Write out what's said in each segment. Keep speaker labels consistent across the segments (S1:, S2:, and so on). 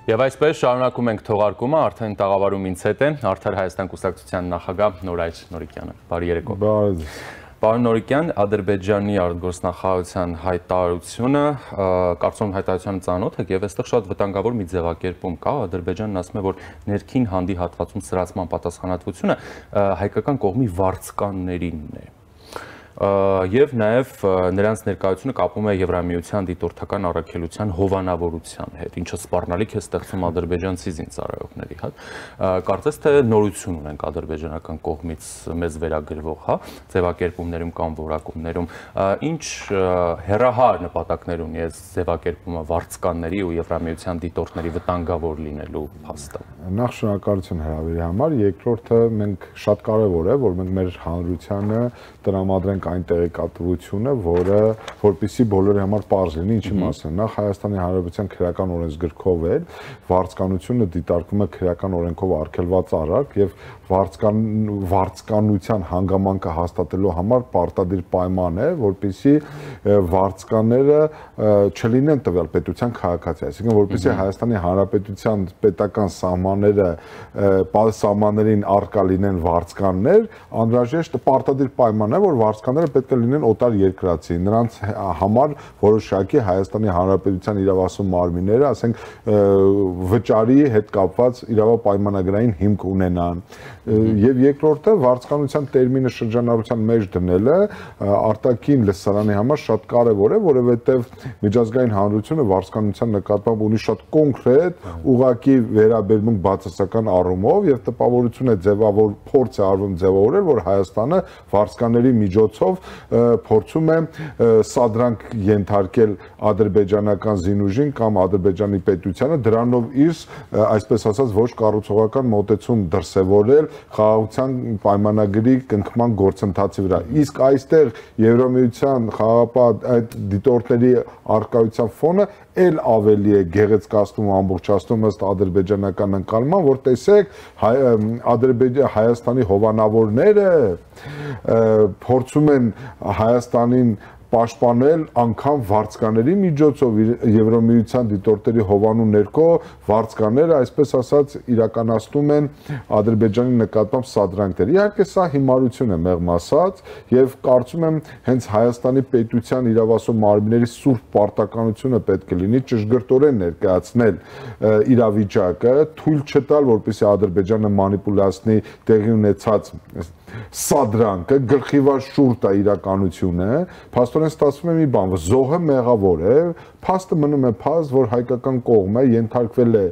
S1: Եվ այսպես շարունակում ենք թողարկումը, արդեն տաղավարում ինձ հետ է Արդար Հայաստան կուսակցության նախագահ Նորայր Նորիկյանը։ Բարի երեկո։ Պարոն Նորիկյան, Ադրբեջանի արտգործնախարարության հայտարարությունը, կարծում եմ հայտարարությանը ծանոթ եք եւ այստեղ շատ վտանգավոր մի ձևակերպում կա, Ադրբեջանն ասում է, որ ներքին հանդի հատվածում սրացման պատասխանատվությունը հայկական կողմի վարձկաններինն է։ Եվ նաև նրանց ներկայությունը կապում է Եվրամիության դիտորդական առաքելության հովանավորության հետ, ինչը սպառնալիք է ստեղծում ադրբեջանցի զինծառայողների հետ։ Կարծես թե նորություն ունենք ադրբեջանական կողմից մեզ վերագրվող, ձևակերպումներում կամ որակումներում, ինչ հեռահար նպատակներ ունի այս ձևակերպումը վարձկանների ու Եվրամիության դիտորդների վտանգավոր լինելու փաստը։
S2: Նախ շնորհակալություն հրավերի համար, երկրորդը մենք շատ կարևոր է, որ մենք մեր հանրությանը տրամադրենք այն տեղեկատվությունը, որպեսզի բոլորի համար պարզ լինի, ինչի մասին։ Նախ Հայաստանի Հանրապետության քրեական օրենսգրքով է վարձկանությունը դիտարկվում է քրեական օրենքով արգելված արարք եւ վարձկանության հանգամանքը հաստատելու համար պարտադիր պայման է, որպեսզի վարձկանները չլինեն տվյալ պետության քաղաքացի, այսինքն որպեսզի Հայաստանի Հանրապետության պետական սահմաններին արկա լինեն վարձկաններ, անհրաժեշտ պարտադիր պայման է, որ վարձկանները պետք է լինեն օտար երկրացի, նրանց համար որոշակի Հայաստանի Հանրապետության իրավասու մարմինները, ասենք վճարի հետ կապված իրավապայմանագրային հիմք ունենան։ Եվ երկրորդը վարձկանության տերմինը շրջանառության մեջ դնելը արտաքին լսարանի համար շատ կարևոր է, որովհետև միջազգային հանրությունը վարձկանության նկատմամբ ունի շատ կոնկրետ ուղղակի վերաբերմունք բացասական առումով եւ տպավորություն է փորձ է արվում ձևավորել, որ Հայաստանը վարձկանների միջոցով փորձում է սադրանք ենթարկել ադրբեջանական զինուժին կամ Ադրբեջանի պետությանը, դրանով իր այսպես ասած ոչ կառուցողական մոտեցում դրսևորել խաղաղության պայմանագրի կնքման գործընթացի վրա։ Իսկ այստեղ Եվրամիության խաղաղապահ այդ դիտորդների արկայության ֆոնը էլ ավելի է գեղեցկացնում ու ամբողջացնում ըստ ադրբեջանական ընկալման, որ տեսեք Հայաստանի հովանավորները փորձում են Հայաստանին պաշտպանել անգամ վարձկաների միջոցով Եվրամիության դիտորդերի հովանու ներքո վարձկանները այսպես ասած իրականացնում են Ադրբեջանի նկատմամբ սադրանքներ։ Իհարկե սա հիմարություն է մեղմ ասած եւ կարծում եմ հենց Հայաստանի պետության իրավասու մարմինների սուրբ պարտականությունը պետք է լինի ճշգրտորեն ներկայացնել իրավիճակը, թույլ չտալ, որպեսզի Ադրբեջանը մանիպուլացնի տեղի ունեցած սադրանքը, գլխիվար շուրջ է իրականությունը, փաստորեն ստացվում է մի բան, զոհը մեղավոր է, փաստը մնում է փաստ, որ հայկական կողմը ենթարկվել է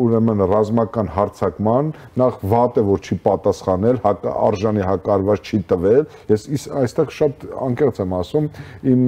S2: ուրեմն ռազմական հարձակման, նախ վատ է, որ չի պատասխանել, արժանի հակարված չի տվել, ես այստեղ շատ անկեղծ եմ ասում, իմ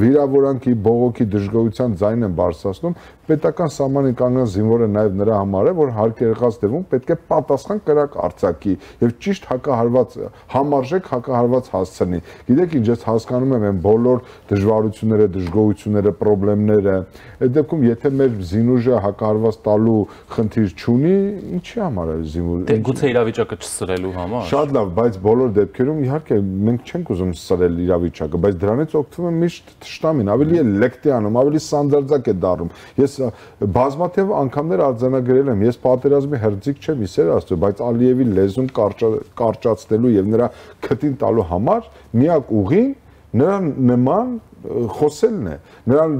S2: վիրավորանքի, բողոքի դժգոհության ձայնն եմ բարձրացնում, պետական սահմանին կանգնած զինվորը նաև նրա համար է, որ հարկ եղած դեպքում պետք է պատասխան կրակ արձակի եւ ճիշտ հակահարված համարժեք հակահարված հասցնի։ Գիտեք ինչ, ես հասկանում եմ այն բոլոր դժվարությունները, դժգոհությունները, խնդիրները, այդ դեպքում եթե մեր զինուժը հակահարված տալու խնդիր չունի, ինչի համար է զինուժը։
S1: Գուցե իրավիճակը չսրելու համար։
S2: Շատ լավ, բայց բոլոր դեպքերում իհարկե մենք չենք ուզում սրել իրավիճակը, բայց դրանից օգտվում է միշտ թշնամին, ավելի է լեկտի անում, ավելի սանդարձակ է դառնում։ Ես բազմաթիվ անգամներ արձանագրել եմ, ես պատերազմի հրձիկ չեմ, իսեր Աստծո, բայց Ալիևի լեզուն կարճացնելու եւ նրա քթին տալու համար միակ ուղին նրա նման խոսելն է, նրան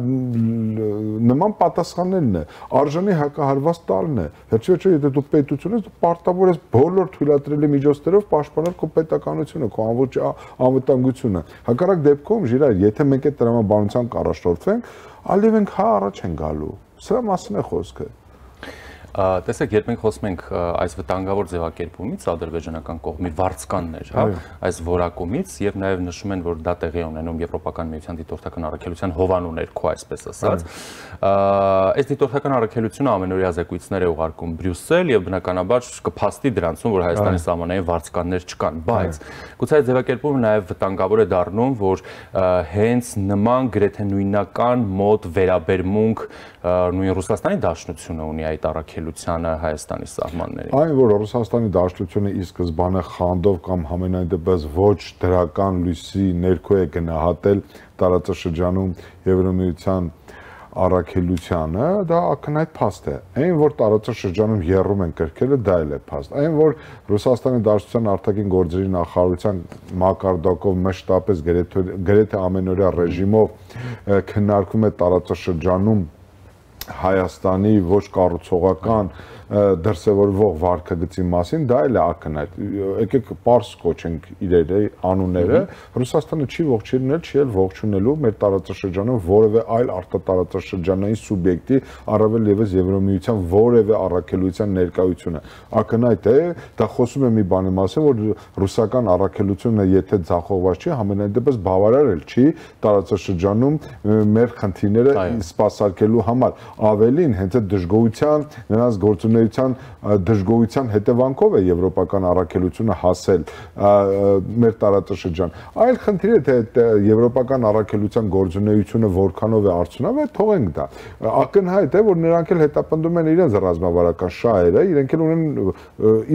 S2: նման պատասխանելն է, արժանի հակահարված տալն է։ Վերջիվերջո եթե դու պետություն ես, դու պարտավոր ես բոլոր թույլատրելի միջոցներով պաշտպանել քո պետականությունը, քո անվտանգությունը։ Հակառակ դեպքում, Ժիրայր, եթե մենք այդ տրամաբանությամբ կառաջորդվենք, Ալիևենք առաջ են գալու։ Սրա մասին է խոսքը։
S1: Տեսեք, երբ մենք խոսում ենք այս վտանգավոր ձևակերպումից ադրբեջանական կողմի վարձկաններ, այս որակումից եւ նաեւ նշում են, որ դա տեղի ունենում Եվրոպական միության դիտորդական առաքելության հովանու ներքո, այսպես ասած, այս դիտորդական առաքելությունը ամենօրյա զեկույցներ է ուղարկում Բրյուսել եւ բնականաբար կփաստի դրանցում, որ Հայաստանի սահմանային վարձկաններ չկան, բայց գուցե այդ ձևակերպումը նաեւ վտանգավոր է դառնում, որ հենց նման գրեթե նույնական մոտ վերաբերմունք նույն Ռուսաստանի Դաշնությունը ունի այդ առաքելությանը Հայաստանի սահմաններին։
S2: Այն, որ Ռուսաստանի Դաշնությունը ի սկզբանե խանդով կամ համենայն դեպս ոչ դրական լույսի ներքո է գնահատել տարածաշրջանում Եվրամիության առաքելությանը, դա ակնհայտ փաստ է։ Այն որ տարածաշրջանում եռում են կրկերը, դա էլ է փաստ։ Այն որ Ռուսաստանի Դաշնության արտաքին գործերի նախարարության մակարդակով մշտապես գրեթե ամենօրյա ռեժիմով քննարկվում է տարածաշրջանում Հայաստանի ոչ կառուցողական դրսևորվող վարքագծի մասին, դա էլ է ակնհայտ։ Եկեք պարզ կոչենք իրերի անունները, Ռուսաստանը չի ողջունել, չի էլ ողջունելու մեր տարածաշրջանում որևէ այլ արտատարածաշրջանային սուբյեկտի, առավել ևս Եվրոմիության որևէ առաքելության ներկայությունը։ Ակնհայտ է, դա խոսում է մի բանի մասին, որ ռուսական առաքելությունը եթե ձախողված չի, համենայն դեպս բավարար էլ չի տարածաշրջանում մեր խնդիրները սպասարկելու համար։ Ավելին, հենց այդ դժգոհության, նրանց գործունեության դժգոհության հետևանքով է եվրոպական առաքելությունը հասել մեր տարածաշրջան։ Այլ խնդիր է, թե եվրոպական առաքելության գործունեությունը որքանով է արդյունավետ, թողենք դա։ Ակնհայտ է, որ նրանք էլ հետապնդում են իրենց ռազմավարական շահերը, իրենք էլ ունեն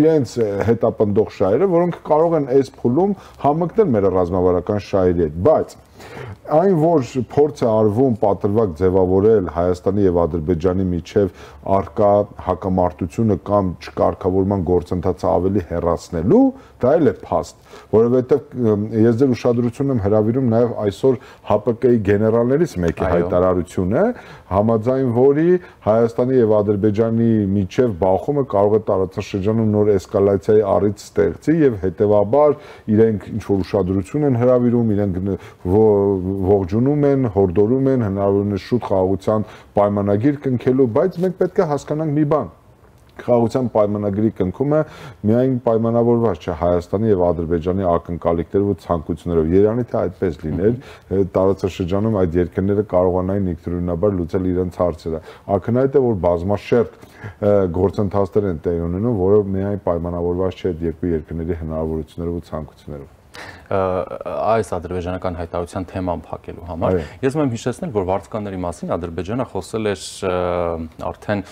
S2: իրենց հետապնդող շահերը, որոնք կարող են այս փուլում համընկնել մեր ռազմավարական շահերի հետ, բայց այն որ փորձ է արվում պատրվակ ձևավորել Հայաստանի եւ Ադրբեջանի միջև արկա հակամարտությունը կամ չկարգավորման գործընթացը ավելի հեռացնելու, դա էլ է փաստ, որովհետեւ ես ձեր ուշադրությունն եմ հրավիրում նաեւ այսօր ՀՊԿ-ի գեներալներից մեկի հայտարարությունը, համաձայն որի Հայաստանի եւ Ադրբեջանի միջև բախումը կարող է տարածաշրջանում նոր էսկալացիայի առիթ ստեղծի եւ հետեւաբար իրենք ինչ որ ուշադրություն են հրավիրում, իրենք ողջունում են, հորդորում են հնարավորինս շուտ խաղաղության պայմանագիր կնքելու, բայց մենք պետք է հասկանանք մի բան։ Խաղաղության պայմանագրի կնքումը միայն պայմանավորված չէ Հայաստանի եւ Ադրբեջանի ակնկալիքներով ու ցանկություններով։ Երանի թե այդպես լիներ, տարածաշրջանում այդ երկրները կարողանային ինքնուրույնաբար լուծել իրենց հարցերը։ Ակնհայտ է, որ բազմաշերտ գործընթացներ են տեղի ունենում, որը միայն պայմանավորված չէ այդ երկու երկրների հնարավորություններով ու ցանկություններով։
S1: Այս ադրբեջանական հայտարարության թեման փակելու համար ես մեմ հիշեցնել, որ վարձկանների մասին Ադրբեջանը խոսել էր արդեն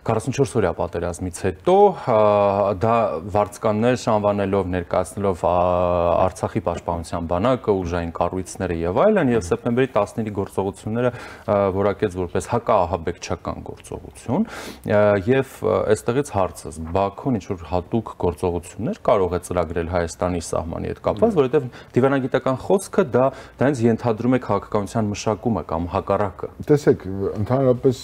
S1: 44 օրյա պատերազմից հետո դա վարձկաններ անվանելով ներկայացնելով Արցախի պաշտպանության բանակը, ուժային կառույցները եւ այլն, եւ սեպտեմբերի 15-ի գործողությունները որակեց որպես հակաահաբեկչական գործողություն եւ այստեղից հարցս Բաքուն ինչ որ հատուկ գործողություններ կարող է ծրագրել Հայաստանի սահմանի հետ կապված, որովհետեւ դիվանագիտական խոսքը դա հենց ենթադրում է քաղաքականության մշակումը կամ հակառակը։
S2: Տեսեք, ընդհանրապես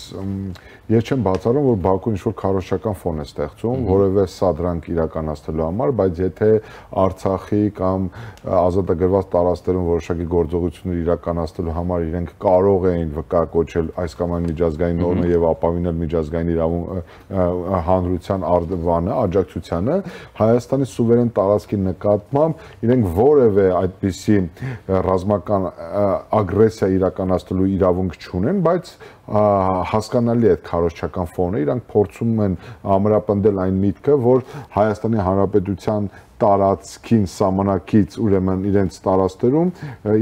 S2: ես չեմ բացառում, որ Բաքուն ինչ-որ քարոզչական ֆոն է ստեղծում, որևէ սադրանք իրականացնելու համար, բայց եթե Արցախի կամ ազատագրված տարածքներում որոշակի գործողություններ իրականացնելու համար իրենք կարող էին վկայակոչել այս կամ այն միջազգային նորմը եւ ապավինել միջազգային հանրության արձանը, աջակցությանը, Հայաստանի սուվերեն տարածքի նկատմամբ իրենք որևէ այդպիսի ռազմական ագրեսիա իրականացնելու իրավունք չունեն, բայց հասկանալի է քարոզչական ֆոնը, իրանք փորձում են ամրապնդել այն միտքը, որ Հայաստանի Հանրապետության տարածքին սահմանակից ուրեմն իրենց տարածքներում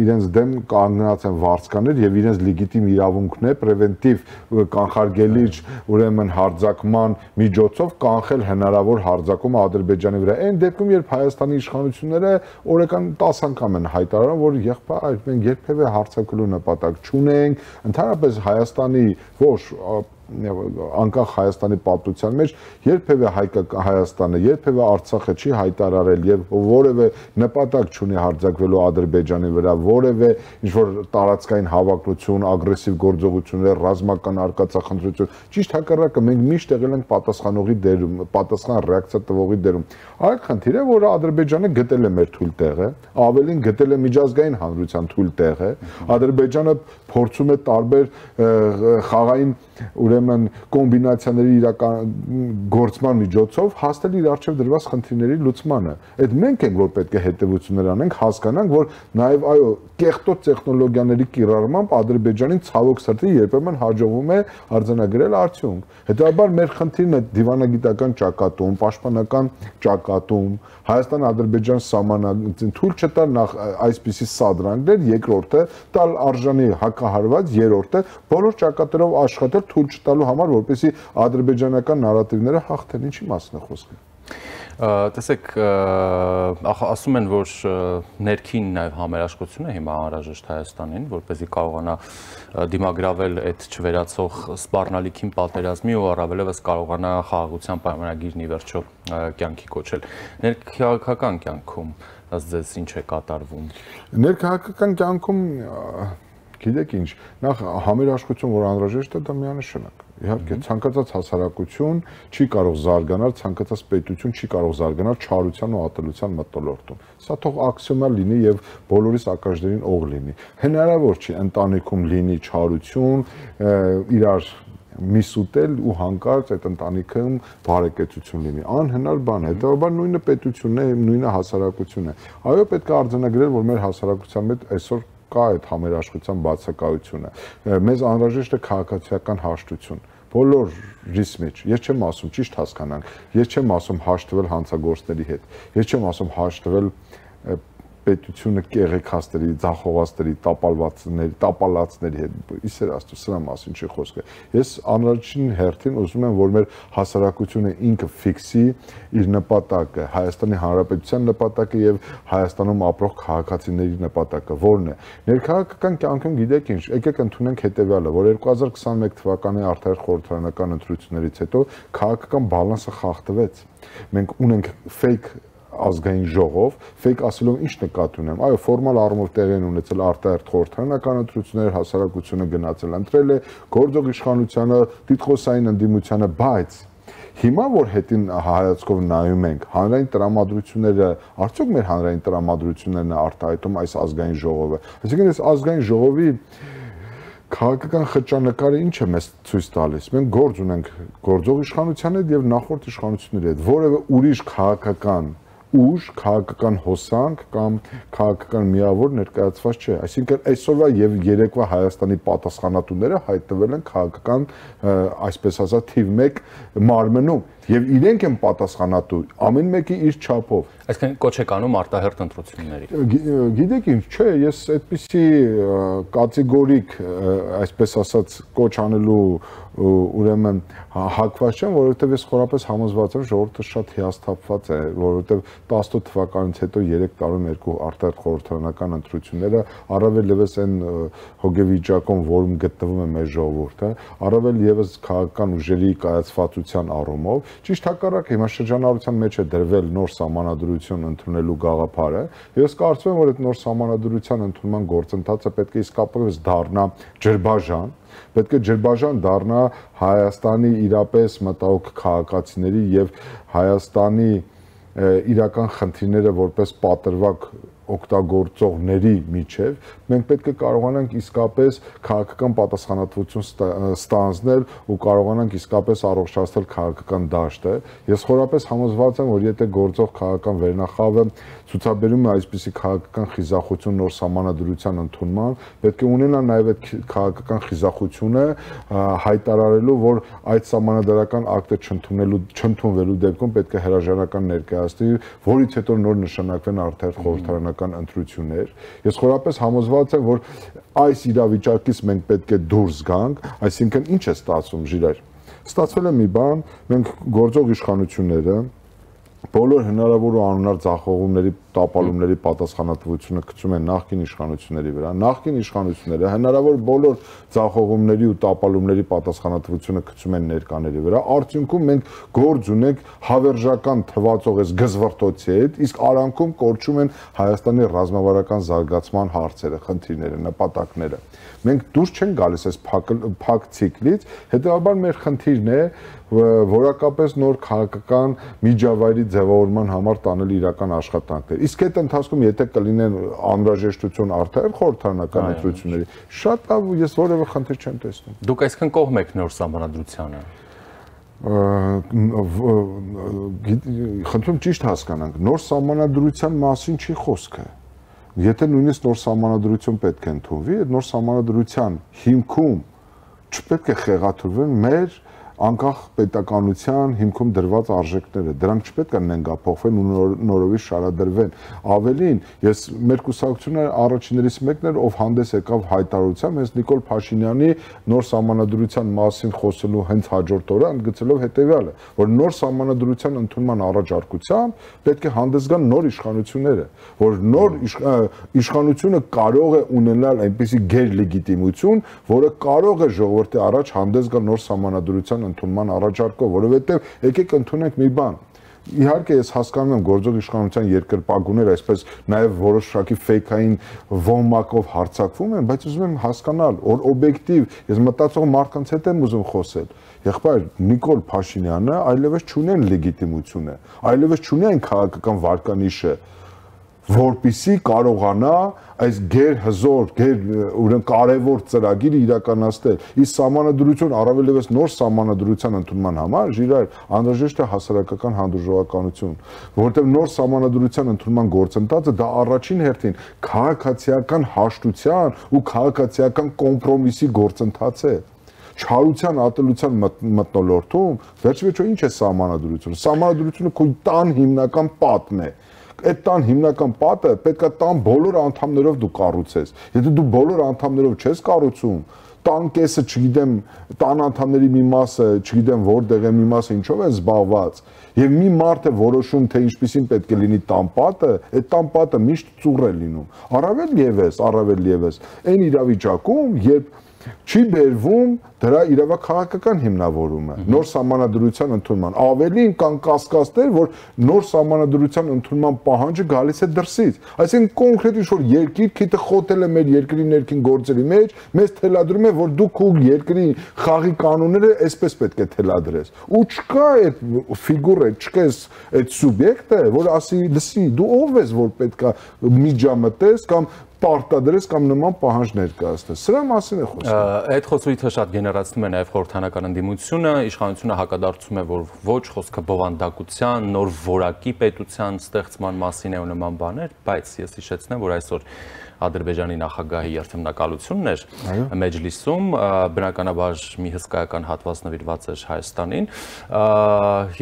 S2: իրենց դեմ կանգնած են վարձկաներ եւ իրենց լեգիտիմ իրավունքն է պրևենտիվ կանխարգելիչ ուրեմն հարձակման միջոցով կանխել հնարավոր հարձակումը Ադրբեջանի վրա։ Այն դեպքում, երբ Հայաստանի իշխանությունները օրական 10 անգամ են հայտարարում, որ եղբայր մենք երբևէ հարձակելու նպատակ չունենք, ընդհանրապես Հայաստանի ոչ անկախ Հայաստանի պատմության մեջ երբևէ Հայաստանը, երբևէ Արցախը չի հայտարարել եւ որևէ նպատակ չունի հարձակվելու Ադրբեջանի վրա, որևէ ինչ-որ տարածքային հավակնություն, ագրեսիվ գործողություններ, ռազմական արկածախնդրություն, ճիշտ հակառակը մենք միշտ եղել ենք պատասխանողի դերում, պատասխան ռեակցիա տվողի դերում։ Այլ խնդիր է, որ Ադրբեջանը գտել է մեր թույլ տեղը, ավելին գտել է միջազգային հանրության թույլ տեղը, Ադրբեջանը փորձում է տարբեր խաղային ուրեմն կոմբինացիաների գործման միջոցով հասնել իր առջև դրված խնդիրների լուծմանը։ Այդ մենք ենք, որ պետք է հետևություններ անենք, հասկանանք, որ նաև այո, կեղտոտ տեխնոլոգիաների կիրառմամբ Ադրբեջանին ցավոք սրտի երբեմն հաջողվում է արձանագրել արդյունք։ Հետաբար մեր խնդիրն է դիվանագիտական ճակատում, պաշտպանական ճակատում, Հայաստան-Ադրբեջան սահմանագծին թույլ չտալ նախ այսպիսի սադրանքներ, երկրորդը տալ արժանի հակահարված, երրորդը բոլոր ճակատներով աշխատել թույլ չտալու համար, որպեսզի ադրբեջանական նարատիվները հաղթեն, ինչի մասն է խոսքը։
S1: Տեսեք, ասում են, որ ներքին նաև համերաշխությունը հիմա անհրաժեշտ Հայաստանին, որպեսզի կարողանա դիմագրավել այդ չվերացող սպառնալիքին պատերազմի ու առավելևս կարողանա խաղաղության պայմանագիրն ի վերջո կյանքի կոչել։ Ներքաղաքական կյանքում ձեզ ինչ է կատարվում։
S2: Ներքաղաքական կյանքում գիտեք ինչ, նախ համերաշխություն, որ անհրաժեշտ է, դա միանշանակ։ Իհարկե, ցանկացած հասարակություն չի կարող զարգանալ, ցանկացած պետություն չի կարող զարգանալ չարության ու ատելության մթնոլորտում։ Սա թող աքսիոմալ լինի եւ բոլորիս ակաժներին օղ լինի։ Հնարավոր չի ընտանիքում լինի չարություն, իրար միս ուտել ու հանկարծ այդ ընտանիքում բարեկեցություն լինի։ Անհնար բան է։ Հետևաբար նույնը պետությունն է, նույնը հասարակությունն է։ Այո, պետք է արձանագրել, որ մեր հասարակության մեջ այսօր կա այդ համերաշխության բացակայությունը։ Մեզ անհրաժեշտ է քաղաքացիական հաշտություն։ Բոլորիս մեջ, ես չեմ ասում, ճիշտ հասկանանք, ես չեմ ասում հաշտվել հանցագործների հետ, ես չեմ ասում հաշտվել պետությունը կեղեքաստերի, ձախողվածների, տապալածների հետ, իսեր աստծո, սրա մասին չի խոսքը։ Ես անհրաժեշտ հերթին ուզում եմ, որ մեր հասարակությունը ինքը ֆիքսի իր նպատակը, Հայաստանի Հանրապետության նպատակը եւ Հայաստանում ապրող քաղաքացիների նպատակը, որն է։ Ներքաղաքական կյանքում գիտեք ինչ, եկեք ընդունենք հետեւյալը, որ 2021 թվականի արտահերթ խորհրդարանական ընտրություններից հետո քաղաքական բալանսը խախտվեց։ Մենք ունենք fake ազգային ժողով, fake ասելով ինչ նկատի ունեմ։ Այո, ֆորմալ առումով տեղի են ունեցել արտահերթ խորհրդարանական ընտրություններ, հասարակությունը գնացել ընտրել է, գործող իշխանությանը, դիտխոսային ընդդիմությանը, բայց հիմա որ հետին հայացքով նայում ենք, հանրային տրամադրությունները, արդյոք մեր հանրային տրամադրություններն է արտահայտում այս ազգային ժողովը։ Այսինքն այս ազգային ժողովի քաղաքական խճանկարը ինչ է մեզ ցույց տալիս։ Մենք գործ ունենք գործող իշխանության հետ եւ նախորդ իշխանությունների հետ, որևէ ուրիշ քաղաքական ուժ, քաղաքական հոսանք կամ քաղաքական միավոր ներկայացված չէ։ Այսինքն այսօրվա եւ երեկվա Հայաստանի պատասխանատուները հայտնվել են քաղաքական, այսպես ասած, թիվ 1 մարմնում եւ իրենք են պատասխանատու, ամեն մեկի իր չափով։
S1: Այսինքն կոչ եք անում արտահերթ ընտրությունների։
S2: Գիտեք ինչ, չէ, ես այդպիսի կատեգորիկ, այսպես ասած, կոչ անելու ուրեմն հակված չեմ, որովհետև ես խորապես համոզված եմ, ժողովուրդը շատ հիասթափված է, որովհետև 18 թվականից հետո 3 տարում երկու արտահերթ խորհրդարանական ընտրությունները, առավել ևս այն հոգեվիճակում, որում գտնվում է մեր ժողովուրդը, առավել ևս քաղաքական ուժերի կայացվածության առումով, ճիշտ հակառակը հիմա շրջանառության մեջ է դրվել նոր սահմանադրություն ընդունելու գաղափարը, եւ ես կարծում եմ, որ այդ նոր սահմանադրության ընդունման գործընթացը պետք է իսկապես դառնա ջրբաժան, պետք է ջրբաժան դառնա Հայաստանի իրապես մտահոգ քաղաքացիների եւ Հայաստանի իրական խնդիրները որպես պատրվակ օգտագործողների միջև մենք պետք է կարողանանք իսկապես քաղաքական պատասխանատվություն ստանձնել ու կարողանանք իսկապես առողջացնել քաղաքական դաշտը։ Ես խորապես համոզված եմ, որ եթե գործող քաղաքական վերնախավը ցուցաբերում է այսպիսի քաղաքական խիզախություն նոր սահմանադրության ընդունման, պետք է ունենա նաև այդ քաղաքական խիզախությունը հայտարարելու, որ այդ սահմանադրական ակտը չընդունվելու դեպքում պետք է հրաժարական ներկայացնի, որից հետո նոր նշանակվեն արտահերթ խորհրդարանական ընտրություններ։ Ես խորապես համոզված եմ, որ այս իրավիճակից մենք պետք է դուրս գանք, այսինքն ինչ է ստացվում, Ժիրայր։ Ստացվել է մի բան, մենք գործող իշխանությունները բոլոր հնարավոր ու անհնար ձախողումների, տապալումների պատասխանատվությունը գցում են նախկին իշխանությունների վրա։ Նախկին իշխանությունները հնարավոր բոլոր ձախողումների ու տապալումների պատասխանատվությունը գցում են ներկաների վրա։ Արդյունքում մենք գործ ունենք հավերժական թվացող այս գզվռտոցի հետ, իսկ արանքում կորչում են Հայաստանի ռազմավարական զարգացման հարցերը, խնդիրները, նպատակները։ Մենք դուրս չենք գալիս այս փակ ցիկլից, հետեւաբար մեր խնդիրն է որակապես նոր քաղաքական միջավայրի ձևավորման համար տանել իրական աշխատանքներ։ Իսկ այդ ընթացքում եթե կլինեն անհրաժեշտություն արտահերթ խորհրդարանական ընտրությունների, շատ լավ, ես որևէ խնդիր չեմ տեսնում։
S1: Դուք այսքան կողմ եք նոր սահմանադրությանը։
S2: Խնդրում ճիշտ հասկանանք, նոր սահմանադրության մասին չի խոսքը։ Եթե նույնիսկ նոր սահմանադրություն պետք է ընդունվի, այդ նոր սահմանադրության հիմքում չպետք է խեղաթյուրվեն մեր անկախ պետականության հիմքում դրված արժեքները, դրանք չպետք է նենգափոխվեն ու նորովի շարադրվեն։ Ավելին, ես մեր կուսակցությունը առաջիններից մեկն էր, ով հանդես եկավ հայտարարությամբ, հենց Նիկոլ Փաշինյանի նոր սահմանադրության մասին խոսելու հենց հաջորդ օրը ընդգծելով հետևյալը, որ նոր սահմանադրության ընդունման առաջարկությամբ պետք է հանդես գան նոր իշխանությունները, որ նոր իշխանությունը կարող է ունենալ այնպիսի գերլեգիտիմություն, որը կարող է ժողովրդի առաջ հանդես գալ նոր սահմանադրության ընդունման առաջարկով, որովհետև եկեք ընդունենք մի բան։ Իհարկե ես հասկանում եմ գործող իշխանության երկրպագուները այսպես նաև որոշակի ֆեյքային ոմակով հարձակվում են, բայց ուզում եմ հասկանալ, որ օբյեկտիվ, ես մտածող մարդկանց հետ եմ ուզում խոսել։ Եղբայր Նիկոլ Փաշինյանը այլևս չունի այն լեգիտիմությունը, այլևս չունի այն քաղաքական վարկանիշը, որպիսի կարողանա այս գերհզոր, կարևոր ծրագիրը իրականացնել։ Իսկ սահմանադրություն, առավել ևս նոր սահմանադրության ընդունման համար ժիրայր անհրաժեշտ է հասարակական հանդուրժողականություն, որովհետև նոր սահմանադրության ընդունման գործընթացը դա առաջին հերթին քաղաքացիական հաշտության ու քաղաքացիական կոմպրոմիսի գործընթաց է։ Չարության ատելության մթնոլորտում վերջիվերջո ինչ է սահմանադրությունը։ Սահմանադրությունը քո տան հիմնական պատն է։ Այդ տան հիմնական պատը պետք է տան բոլոր անդամներով դու կառուցես։ Եթե դու բոլոր անդամներով չես կառուցում, տան կեսը, չգիտեմ, տան անդամների մի մասը, չգիտեմ որտեղ է, մի մասը ինչով է զբաղված, եւ մի մարդ է որոշում, թե ինչպեսին պետք է լինի տան պատը, այդ տան պատը միշտ ծուռ է լինում։ Առավել եւս, այն իրավիճակում, երբ չի բերվում դրա իրավաքաղաքական հիմնավորումը, նոր սահմանադրության ընդունման։ Ավելին կան կասկածներ, որ նոր սահմանադրության ընդունման պահանջը գալիս է դրսից։ Այսինքն կոնկրետ ինչ-որ երկիր քիթը խոթել է մեր երկրի ներքին գործերի մեջ, մեզ թելադրում է, որ դու քո երկրի խաղի կանոնները այսպես պետք է թելադրես։ Ու չկա այդ ֆիգուրը, չկա այդ սուբյեկտը, որ ասի, լսի, դու ով ես, որ պետքա միջամտես կամ պարտադրես կամ նման պահանջ ներկայացնես։ Սրա մասին է խոսքը։
S1: Այդ խոսույթը շատ գեներացնում է նաև խորհրդանական ընդդիմությունը, իշխանությունը հակադարձում է, որ ոչ խոսքը բովանդակության, նոր որակի պետության ստեղծման մասին է ու նման բաներ, բայց ես հիշեցնեմ, որ այսօր Ադրբեջանի նախագահի երթմնակալությունն էր մեջլիսում, բնականաբար մի հսկայական հատված նվիրված էր Հայաստանին,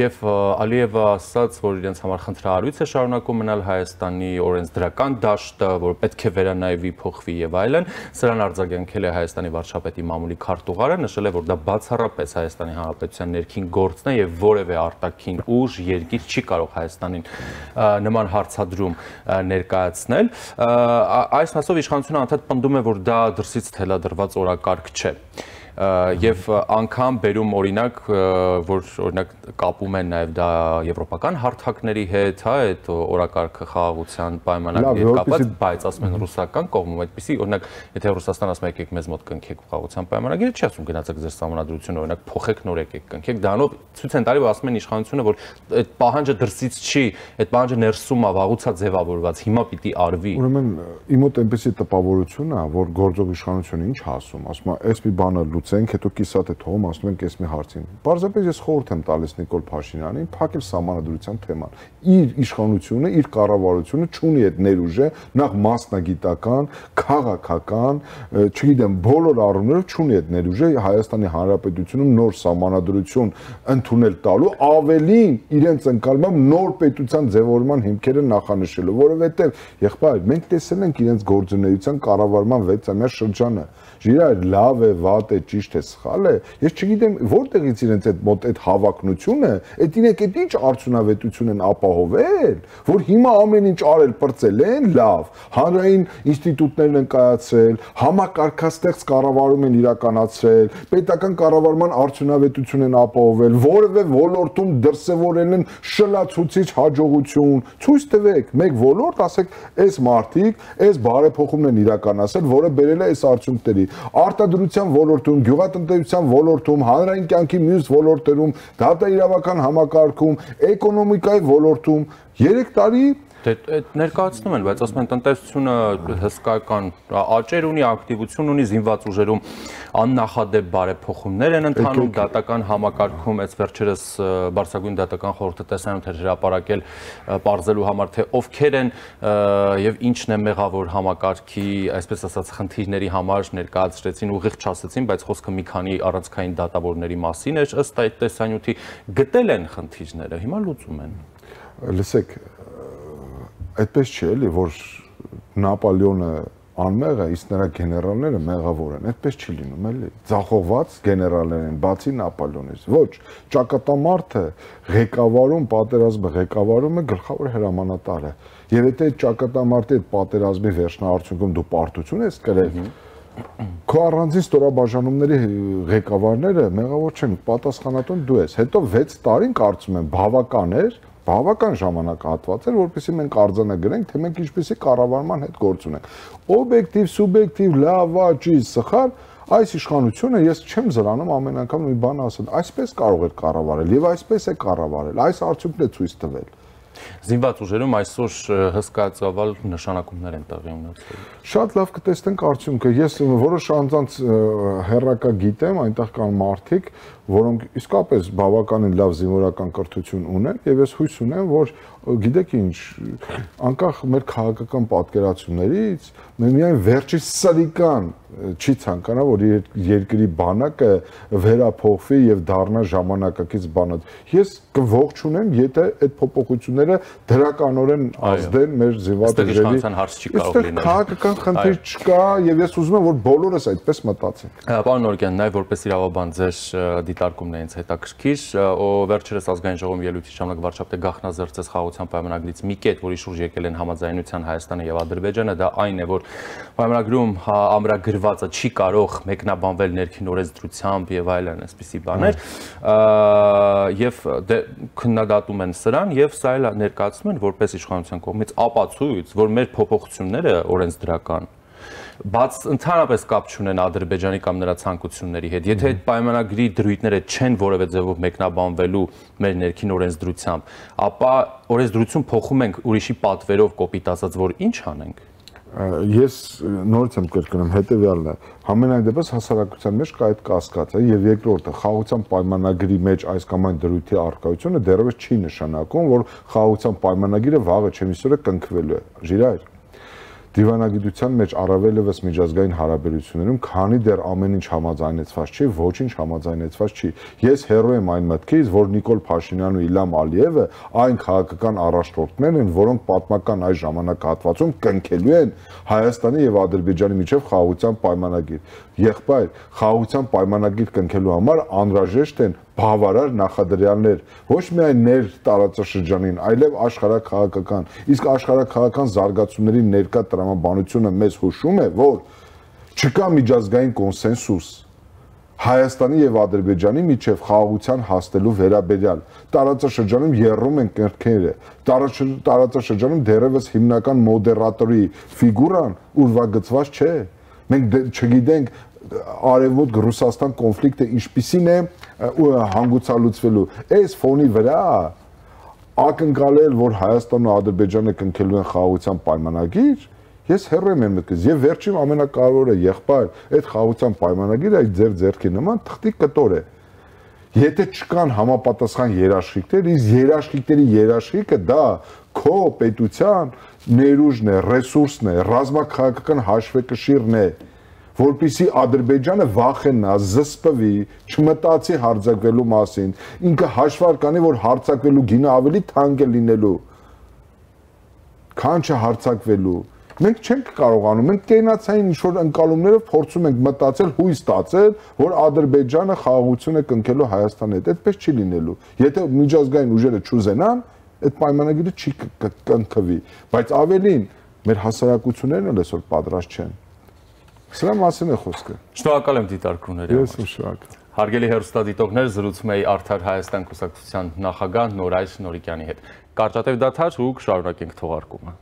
S1: եւ Ալիևը ասաց, որ իրենց համար խնդրահարույց է շարունակում մնալ Հայաստանի օրենսդրական դաշտը, որ պետք է վերանայվի, փոխվի եւ այլն։ Սրան արձագանքել է Հայաստանի վարչապետի մամուլի քարտուղարը, նշել է, որ դա բացառապես Հայաստանի Հանրապետության ներքին գործն է եւ որևէ արտաքին ուժ, երկիր չի կարող Հայաստանին նման հարցադրում ներկայացնել։ Այս մասով իշխանությունը անդադ պնդում է, որ դա դրսից թելադրված օրակարգ չէ։ Եվ անգամ բերում օրինակ, որ օրինակ կապում են նաև դա եվրոպական հարթակների հետ, հա, այդ օրակարգը խաղաղության պայմանագրի հետ կապված, բայց ասում են ռուսական կողմում այդպեսի, օրինակ, եթե Ռուսաստան ասում է եկեք մեզ մոտ կնքեք խաղաղության պայմանագիրը, չի ասում գնացեք ձեր սահմանադրությունը, օրինակ փոխեք նոր եկեք կնքեք, դրանով ցույց են տալի, որ ասում են իշխանությունը, որ այդ պահանջը դրսից չի, այդ պահանջը ներսում է, վաղուց է ձևավորված, հիմա պիտի արվի։
S2: Ուրեմն իմ մոտ այնպեսի տպավորություն է, որ գործող իշխանությունը ինչ ասում, ասում է, այս մի բանը լուծենք, հետո կիսատ է թողում, ասում ենք այս մի հարցին։ Պարզապես ես խորհուրդ եմ տալիս Նիկոլ Փաշինյանին փակել սահմանադրության թեման։ Իր իշխանությունը, իր կառավարությունը չունի այդ ներուժը, նախ մասնագիտական, քաղաքական, չգիտեմ, բոլոր առումներով չունի այդ ներուժը Հայաստանի Հանրապետությունում նոր սահմանադրություն ընդունել տալու, ավելին իրենց ընկալմամբ նոր պետության ձևավորման հիմքերը նախանշելու, որովհետև եղբայր, մենք տեսել ենք իրենց գործունեության կառավարման 6-ամյա շրջանը։ Ժիրայր լավ է, վատ է, ճիշտ է, սխալ է։ Ես չգիտեմ որտեղից իրենց այդ մոտ այդ հավակնությունը, այդ իրենք այդ ինչ արդյունավետություն են ապահովել, որ հիմա ամեն ինչ արել պրծել են, լավ, հանրային ինստիտուտներն են կայացրել, համակարգաստեղծ կառավարում են իրականացրել, պետական կառավարման արդյունավետություն են ապահովել, որևէ ոլորտում դրսևորել են շլացուցիչ հաջողություն։ Ցույց տվեք, մեկ ոլորտ, ասեք, այս մարդիկ, այս բարեփոխումն են իրականացրել, որը բերել է այս արդյունքների։ Արտադրության ոլորտում, գյուղատնտեսության ոլորտում, հանրային կյանքի մյուս ոլորտերում, դատաիրավական համակարգում, էկոնոմիկայի ոլորտում 3 տարի
S1: Ներկայացնում են, բայց ասում են տնտեսությունը հսկայական աճեր ունի, ակտիվություն ունի, զինված ուժերում աննախադեպ բարեփոխումներ են ընթանում, դատական համակարգում, այս վերջերս Բարձրագույն դատական խորհուրդը տեսանյութ էր հրապարակել պարզելու համար, թե ովքեր են եւ ինչն է մեղավոր համակարգի, այսպես ասած, խնդիրների համար ներկայացրեցին, ուղիղ չասեցին, բայց խոսքը մի քանի առանցքային դատավորների մասին էր, ըստ այդ տեսանյութի գտել են խնդիրները, հիմա լուծում են։
S2: Լսեք, այդպես չի էլի, որ Նապոլեոնը անմեղ է, իսկ նրա գեներալները մեղավոր են, այդպես չի լինում էլի, ձախողված գեներալներ են, բացի Նապոլեոնից, ոչ, ճակատամարտը ղեկավարում, պատերազմը ղեկավարում է գլխավոր հրամանատարը, եւ եթե այդ ճակատամարտի այդ պատերազմի վերջնահարցունքում դու պարտություն ես կրել, քո առանձին ստորաբաժանումների ղեկավարները մեղավոր չեն, պատասխանատուն դու ես, հետո 6 տարին կարծում եմ բավական ժամանակահատված էր, որպեսզի մենք արձանագրենք, թե մենք ինչպեսի կառավարման հետ գործ ունենք։ Օբյեկտիվ, սուբյեկտիվ, լավ, ճի, սխալ, այս իշխանությունը ես չեմ զրանում ամեն անգամ մի բան ասել։ Այսպես կարող է կառավարել եւ այսպես է կառավարել։ Այս արդյունքն է ցույց տվել։
S1: Զինված ուժերում այսօր հսկայածավալ նշանակումներ են տեղի ունեցել։
S2: Շատ լավ կտեսնենք արդյունքը։ Ես որոշ անձանց հերրակա գիտեմ, այնտեղ կան մարդիկ, որոնք իսկապես բավականին լավ զինվորական կրթություն ունեն, եւ ես հույս ունեմ, որ գիտեք ինչ, անկախ մեր քաղաքական պատկերացումներից, միայն վերջի սրիկան չի ցանկանա, որ երկրի բանակը վերափոխվի եւ դառնա ժամանակակից բանակ։ Ես կողջունեմ, եթե այդ փոփոխությունները դրականորեն ազդեն մեր զինված ուժերի։ Այստեղ քաղաքական խնդիր չկա եւ ես ուզում եմ, որ բոլորս այդպես մտածենք։
S1: Պարոն Նորիկյան, նաեւ որպես իրավաբան ձեր դիտարկումն է ինձ հետաքրքիր, վերջերս ազգային ժողովի ելույթի ժամանակ վարչապետ Գախնազրծեց խաղաղության պայմանագրից մի կետ, որի շուրջ եկել են համաձայնության Հայաստանը եւ Ադրբեջանը, դա այն է, որ պայմանագրում ամրագրվածը չի կարող մեկնաբանվել ներքին օրենսդրությամբ եւ այլն, այսպիսի բաներ, եւ քննադատում են սրան եւ սա էլ ներկայացնում են որպես իշխանության կողմից ապացույց, որ մեր փոփոխությունները օրենսդրական բաց ընդհանրապես կապ չունեն Ադրբեջանի կամ նրա ցանկությունների հետ։ Եթե այդ պայմանագրի դրույթները չեն որևէ ձևով մեկնաբանվելու մեր ներքին օրենսդրությամբ, ապա օրենսդրություն փոխում ենք ուրիշի պատվերով, կոպիտ ասած, որ ինչ անենք։
S2: Ես նորից եմ կրկնում, հետեւյալն է, համենայն դեպս հասարակության մեջ կա այդ կասկածը եւ երկրորդը խաղաղության պայմանագրի մեջ այս կամ այն դրույթի առկայությունը դեռևս չի նշանակում, որ խաղաղության պայմանագիրը վաղը չէ միսօրը կնքվելու է։ Ժիրայր Դիվանագիտության մեջ առավելևս միջազգային հարաբերություններում, քանի դեռ ամեն ինչ համաձայնեցված չի, ոչինչ համաձայնեցված չի։ Ես հերո եմ այն մտքից, որ Նիկոլ Փաշինյանն ու Իլհամ Ալիևը այն քաղաքական առաջնորդներն են, որոնք պատմական այս ժամանակահատվածում կնքելու են Հայաստանի եւ Ադրբեջանի միջև խաղաղության պայմանագիր։ Եղբայր, խաղաղության պայմանագիր կնքելու համար անհրաժեշտ են բավարար նախադրյալներ, ոչ միայն ներ տարածաշրջանին, այլև աշխարհաքաղաքական։ Իսկ աշխարհաքաղաքական զարգացումների ներկա տրամաբանությունը մեզ հուշում է, որ չկա միջազգային կոնսենսուս Հայաստանի եւ Ադրբեջանի միջև խաղաղության հասնելու վերաբերյալ։ Տարածաշրջանում եռում են կրքերը, տարածաշրջանում դեռևս հիմնական մոդերատորի ֆիգուրան ուրվագծված չէ։ Մենք չգիտենք Արևմուտք Ռուսաստան կոնֆլիկտը ինչպիսին է հանգուցալուծվելու։ Այս ֆոնի վրա ակնկալել, որ Հայաստանն ու Ադրբեջանը կնքելու են խաղաղության պայմանագիր, ես հեռու եմ մտքից եւ վերջին ամենակարևորը եղբայր, այդ խաղաղության պայմանագիրը այդ ձեր ձեռքի նման թղթի կտոր է։ Եթե չկան համապատասխան երաշխիքներ, իսկ երաշխիքների երաշխիքը դա քո պետության ներուժն է, ռեսուրսն է, ռազմաքաղաքական հաշվեկշիռն է, որպեսզի Ադրբեջանը վախենա, զսպվի, չմտածի հարձակվելու մասին, ինքը հաշվար կանի, որ հարձակվելու գինը ավելի թանկ է լինելու, քան չհարձակվելու։ Մենք չենք կարողանում, մենք կենացային ինչ-որ ընկալումներով փորձում ենք մտածել, հույս տածել, որ Ադրբեջանը խաղաղություն է կնքելու Հայաստանի հետ, այդպես չի լինելու։ Եթե միջազգային ուժերը չուզենան, այդ պայմանագիրը չի կնքվի, բայց ավելին մեր հասարակություններն էլ այսօր պատրաստ չեն։ Սրա մասին է խոսքը։
S1: Շնորհակալ եմ դիտարկումների համար։
S2: Ես շնորհակալ։
S1: Հարգելի հեռուստադիտողներ, զրուցում էի Արդար Հայաստան կուսակցության նախագահ Նորայր Նորիկյանի հետ։ Կարճատև դադար ու կշարունակենք թողարկումը։